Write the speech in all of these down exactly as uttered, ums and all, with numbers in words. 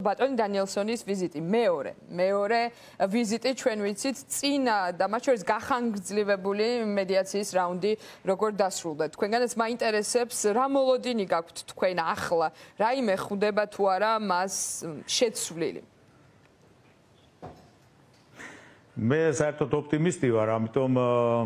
ბატონი დანიელსონის ვიზიტი. მეორე, მეორე ვიზიტი ჩვენ ვიცით წინა და მათ შორის გახანგრძლივებული მედიაციის რაუნდი როგორ დასრულდა. თქვენგანაც მაინტერესებს რა მოლოდინი გაქვთ თქვენ ახლა, რაიმე ხვდება თუ არა მას შეცვლილი. მე საერთოდ ოპტიმისტი ვარ, ამიტომ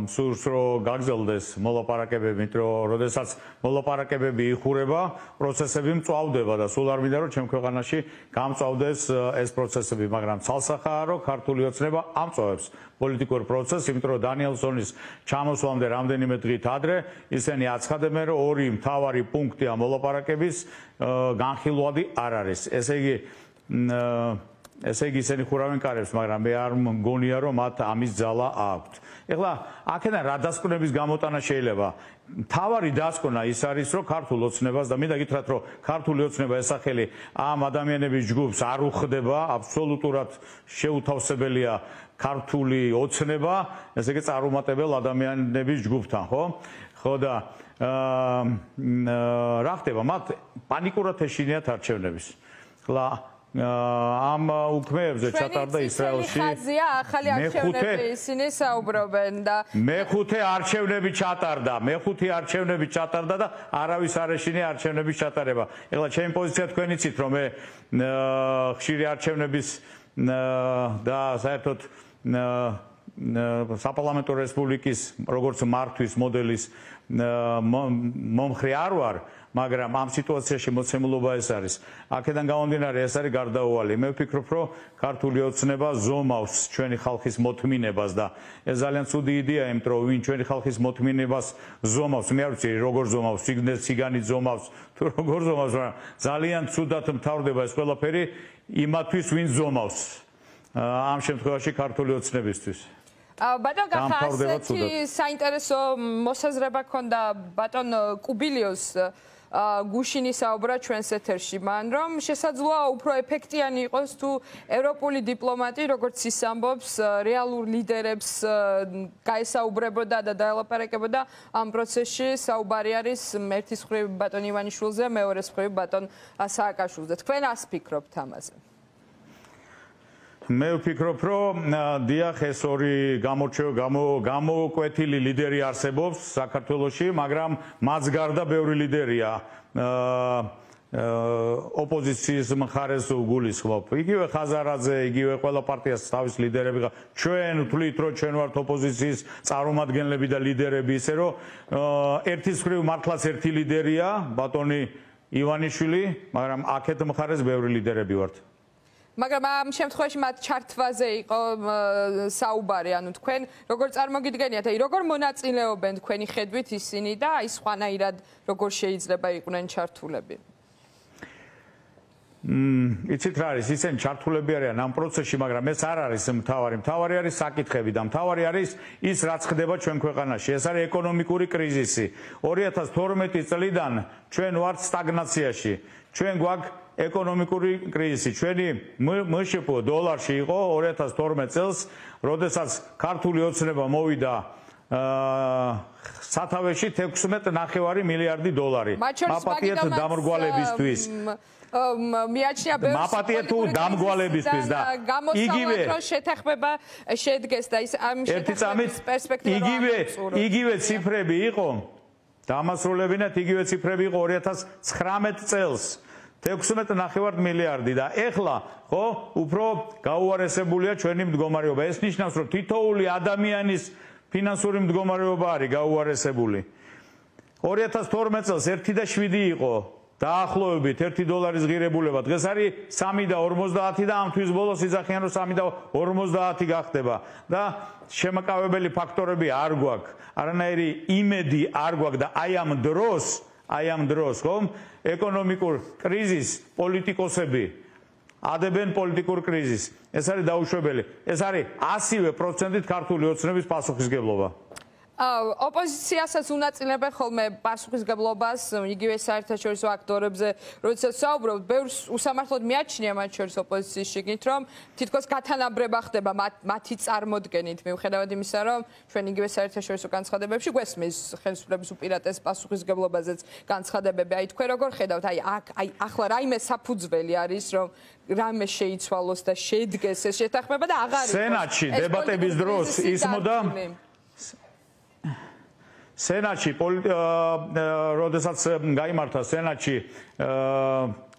სურს რომ გაგრძელდეს მოლაპარაკებები, რომ როდესაც მოლაპარაკებები იხურება, პროცესები მწვავდება და სულ არ მინდა რომ ჩემ ქვეყანაში გამწვავდეს ეს პროცესები, მაგრამ ცალსახაა რომ ქართული ოცნება ამწვავებს პოლიტიკურ პროცესს, იმიტომ რომ დანიელსონის ჩამოსვლამდე რამდენიმე დღით ადრე ისინი აცხადებენ, რომ ორი მთავარი პუნქტი ამ მოლაპარაკების განხილვადი არ არის. ესე იგი ესე იგი ისინი ხურავენ კარებს, მაგრამ მე არ მგონია რომ მათ ამის ძალა აქვთ. ეხლა აქედან რა დასკვნების გამოტანა შეიძლება? მთავარი დასკვნა ის არის, რომ ქართულ ოცნებას და მინდა გითხრათ, რომ ქართული ოცნება ესახელი ამ ადამიანების ჯგუფს არ უხდება, აბსოლუტურად შეუთავსებელია ქართული ოცნება, ესე იგი წარუმატებელ ადამიანების ჯგუფთან, ხო? ხო და რა ხდება? მათ პანიკურად ეშინიათ არჩევნების. ეხლა ამ უქმეებზე ჩატარდა ისრაელში ხაზია ახალი არჩევნები ისინი საუბრობენ და მეხუთე არჩევნები ჩატარდა მეხუთე არჩევნები ჩატარდა და არავის არ ეშინია არჩევნების ჩატარება. ეხლა ჩემი პოზიცია თქვენ იცით რომ მე ხშირი არჩევნების და საერთოდ საპარლამენტო რესპუბლიკის როგორც მართვის მოდელის მომხრე არ ვარ, მაგრამ ამ სიტუაციაში მოცემულობა ეს არის. აქედან გამომდინარე ეს არის გარდაუვალი. მე ვფიქრობ, რომ ქართული ოცნება ზომავს ჩვენი ხალხის მოთმინებას და ეს ძალიან ცუდი იდეაა, იმიტომ რომ ვინ ჩვენი ხალხის მოთმინებას ზომავს, მე არ ვიცი როგორ ზომავს, სიგნეს სიგანით ზომავს, თუ როგორ ზომავს, მაგრამ ძალიან ცუდად მთავრდება ეს ყველაფერი იმათვის, ვინ ზომავს. ამ შემთხვევაში ქართული ოცნებისთვის. ბატონ გახა ასეთი საინტერესო მოსაზრება ქონდა ბატონ კუბილიოს გუშინი საუბრა ჩვენს ეთერში, მან რომ შესაძლოა უფრო ეფექტიანი იყოს თუ ევროპული დიპლომატი, როგორც ის ამბობს, რეალურ ლიდერებს გაესაუბრებოდა და დაელაპარაკებოდა ამ პროცესში. საუბარი არის ერთის მხრივ ბატონ ივანიშვილზე, მეორეს მხრივ ბატონ სააკაშვილზე. თქვენ ას ფიქრობთ ამაზე? მე ვფიქრობ, რომ დიახ, ეს ორი გამოკვეთილი ლიდერი არსებობს საქართველოში, მაგრამ მას გარდა ბევრი ლიდერია ოპოზიციის მხარეს გულისხმობ. იგივე ხაზარაძე, იგივე ყველა პარტიას თავის ლიდერები. ჩვენ ვთვლით, რომ ჩვენ ვართ ოპოზიციის წარმომადგენლები და ლიდერები, ისე რომ ერთის მხრივ მართლაც ერთი ლიდერია, ბატონი ივანიშვილი, მაგრამ აქეთ მხარეს ბევრი ლიდერები ვართ. მაგრამ ამ შემთხვევაში მათ ჩართვაზე იყო საუბარი, ანუ თქვენ როგორ წარმოგიდგენიათ, აი როგორ მონაწილეობენ თქვენი ხედვით ისინი და აი სხვანაირად როგორ შეიძლება იყვნენ ჩართულები? მმ, იცით რა არის, ისინი ჩართულები არიან ამ პროცესში, მაგრამ ეს არ არის მთავარი. მთავარი არის საკითხები და მთავარი არის ის, რაც ხდება ჩვენ ქვეყანაში. ეს არის ეკონომიკური კრიზისი. ორი ათას თორმეტი წლიდან ჩვენ ვართ სტაგნაციაში. ჩვენ გვაქვს ეკონომიკური კრიზისი. ჩვენი მშპ დოლარში იყო ორი ათას თორმეტ წელს, როდესაც ქართული ოცნება მოვიდა სათავეში თექვსმეტ ნახევარი მილიარდი დოლარი. მაპატიეთ დამრგვალებისთვის. მიაჩნია ბევრი მაპატიეთ თუ დამრგვალებისთვის და იგივე შეთანხმება შედგეს და ის ამ შეთანხმების პერსპექტივა იგივე იგივე ციფრები იყო დამასრულებინათ იგივე ციფრები იყო ორი ათას ცხრამეტ წელს. თექვსმეტ ნახევარ მილიარდი და ეხლა ხო უფრო გაუარესებულია ჩვენი მდგომარეობა. ეს ნიშნავს, რომ თითოეული ადამიანის ფინანსური მდგომარეობა არის გაუარესებული. ორი ათას თორმეტ წელს ერთი და შვიდი იყო დაახლოებით ერთი დოლარის ღირებულება. დღეს არის სამი და ორმოცდაათი და ამ თვის ბოლოს იძახიან, რომ სამი და ორმოცდაათი გახდება და შემაკავებელი ფაქტორები არ გვაქვს. არანაირი იმედი არ გვაქვს და აი ამ დროს აი ამ დროს ხომ ეკონომიკურ კრიზისს პოლიტიკოსები ადებენ პოლიტიკურ კრიზისს. ეს არის დაუშვებელი. ეს არის ასივე პროცენტით ქართული ოცნების პასუხისგებლობა. ოპოზიციასაც უნაწილებენ ხოლმე პასუხისგებლობას იგივე საერთაშორისო აქტორებზე, როდესაც საუბრობთ, ბევრს უსამართლოდ მიაჩნია მათ შორის ოპოზიციის შიგნით, რომ თითქოს გათანაბრება ხდება მათი წარმოდგენით, მიუხედავად იმისა, რომ ჩვენ იგივე საერთაშორისო განცხადებებში გვესმის ხელისუფლების უპირატეს პასუხისგებლობაზეც განცხადებები. აი თქვენ როგორ ხედავთ, აი აქ აი ახლა რაიმე საფუძველი არის, რომ რამე შეიცვალოს და შედგეს ეს შეთანხმება და აღარ იყოს სენატში დებატების დროს ისმოდა სენატში როდესაც გაიმართა სენატში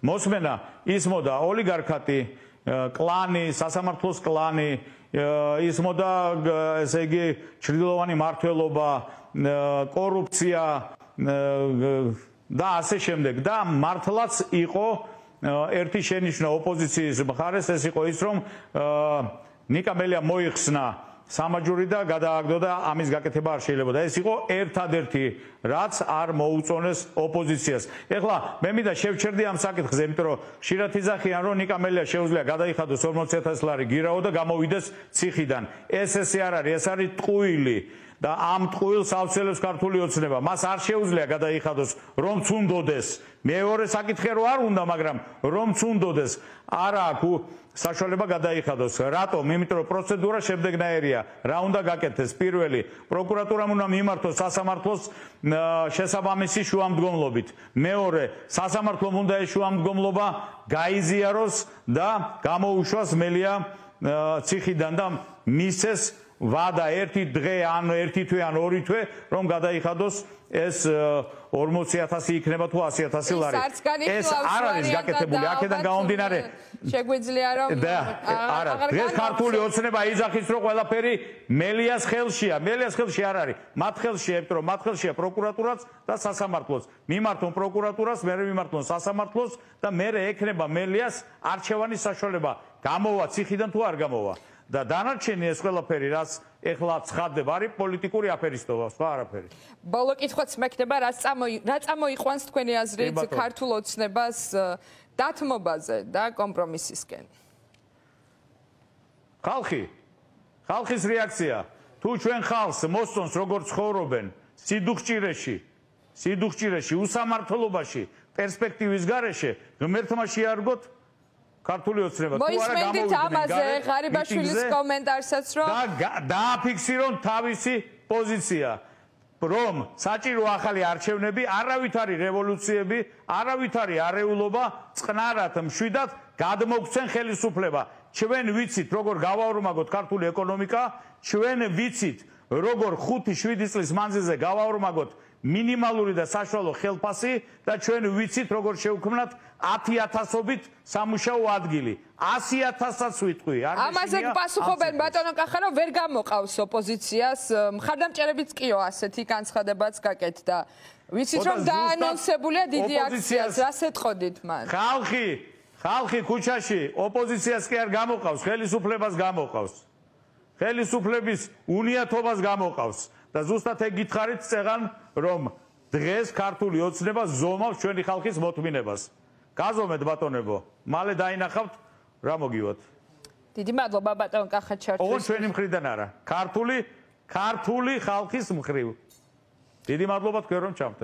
მოსმენა ისმოდა ოლიგარქატი კლანი სასამართლოს კლანი ისმოდა ესე იგი ჩრდილოვანი მმართველობა კორუფცია და ასე შემდეგ და მართლაც იყო ერთი შენიშვნა ოპოზიციის მხარეს ეს იყო ის რომ ნიკა მელია მოიხსნა სამაჯური და გადააგდო და ამის გაკეთება არ შეიძლება და ეს იყო ერთადერთი რაც არ მოუწონეს ოპოზიციას. ეხლა მე მინდა შევჩერდი ამ საკითხზე, იმიტომ რომ ხშირად იძახიან რომ ნიკა მელია შეუძლია გადაიხადოს ორმოცი ათასი ლარი გირაო და გამოვიდეს ციხიდან. ეს ესე არ არის, ეს არის ტყუილი. და ამ ტყუილს ავცელებს ქართული ოცნება. მას არ შეუძლია გადაიხადოს, რომც უნდოდეს. მეორე საკითხი რო არ უნდა, მაგრამ რომც უნდოდეს, არა აქვს საშუალება გადაიხადოს. რატომ? იმიტომ რომ პროცედურა შემდეგნაირია. რა უნდა გაკეთდეს? პირველი, პროკურატურამ უნდა მიმართოს სასამართლოს შესაბამისი შუამდგომლობით. მეორე, სასამართლომ უნდა ეს შუამდგომლობა გაიზიაროს და გამოუშვას მელია ციხიდან და მისცეს ვადა ერთი დღე ან ერთი თვე ან ორი თვე რომ გადაიხადოს ეს ორმოცი ათასი იქნება თუ ასი ათასი ლარი. ეს არ არის გაკეთებული. აქედან გამომდინარე შეგვიძლია რომ არა დღეს ქართული ოცნება იძახის რომ ყველაფერი მელიას ხელშია. მელიას ხელში არ არის. მათ ხელშია, იმიტომ რომ მათ ხელშია პროკურატურაც და სასამართლოც. მიმართონ პროკურატურას, მერე მიმართონ სასამართლოს და მერე ექნება მელიას არჩევანის საშუალება. გამოვა ციხიდან თუ არ გამოვა. და დანარჩენი ეს ყველაფერი რაც ეხლა ცხადდება არის პოლიტიკური აფერისტობა, სხვა არაფერი. ბოლო კითხვაც მექნება, რა რა წამოიყვანს თქვენი აზრით ქართულ ოცნებას დათმობაზე და კომპრომისისკენ? ხალხი, ხალხის რეაქცია. თუ ჩვენ ხალხს მოსწონს როგორ ცხოვრობენ სიდუხჭირეში, სიდუხჭირეში, უსამართლობაში, პერსპექტივის გარეშე, ღმერთმა შეარგოთ ქართული ოცნება თუ არა გამოვიდნენ ამაზე ღარიბაშვილის კომენტარსაც რომ და დააფიქსირონ თავისი პოზიცია რომ საჭირო ახალი არჩევნები არავით არის რევოლუციები არავით არის არეულობა წყნარად მშვიდად გადმოგცენ ხელისუფლება ჩვენ ვიცით როგორ გავაორმაგოთ ქართული ეკონომიკა ჩვენ ვიცით როგორ ხუთი შვიდი წლის მანძილზე გავაორმაგოთ მინიმალური და საშუალო ხელფასი და ჩვენ ვიცით როგორ შევქმნათ ათი ათასობით სამუშაო ადგილი. ასი ათასაც ვიტყვი. ამაზე გპასუხობენ ბატონო კახარო ვერ გამოყავს ოპოზიციას. მხარდამჭერებიც კიო ასეთი განცხადებაც გაკეთდა. ვიცით რომ დაანონსებულია დიდი აქციაც. რას ეტყოდით მან? ხალხი, ხალხი ქუჩაში ოპოზიციას კი არ გამოყავს, ხელისუფლებას გამოყავს. ხელისუფლების უნიათობას გამოყავს და ზუსტად ეგ გითხარით წეღან რომ დღეს ქართული ოცნება ზომავს ჩვენი ხალხის მოთმინებას. გაზომეთ ბატონებო, მალე დაინახავთ რა მოგივათ. დიდი მადლობა ბატონ კახაჩართვის. ოღონდ ჩვენი მხრიდან არა, ქართული ქართული ხალხის მხრივ. დიდი მადლობა თქვენ რომ ჩამხდეთ.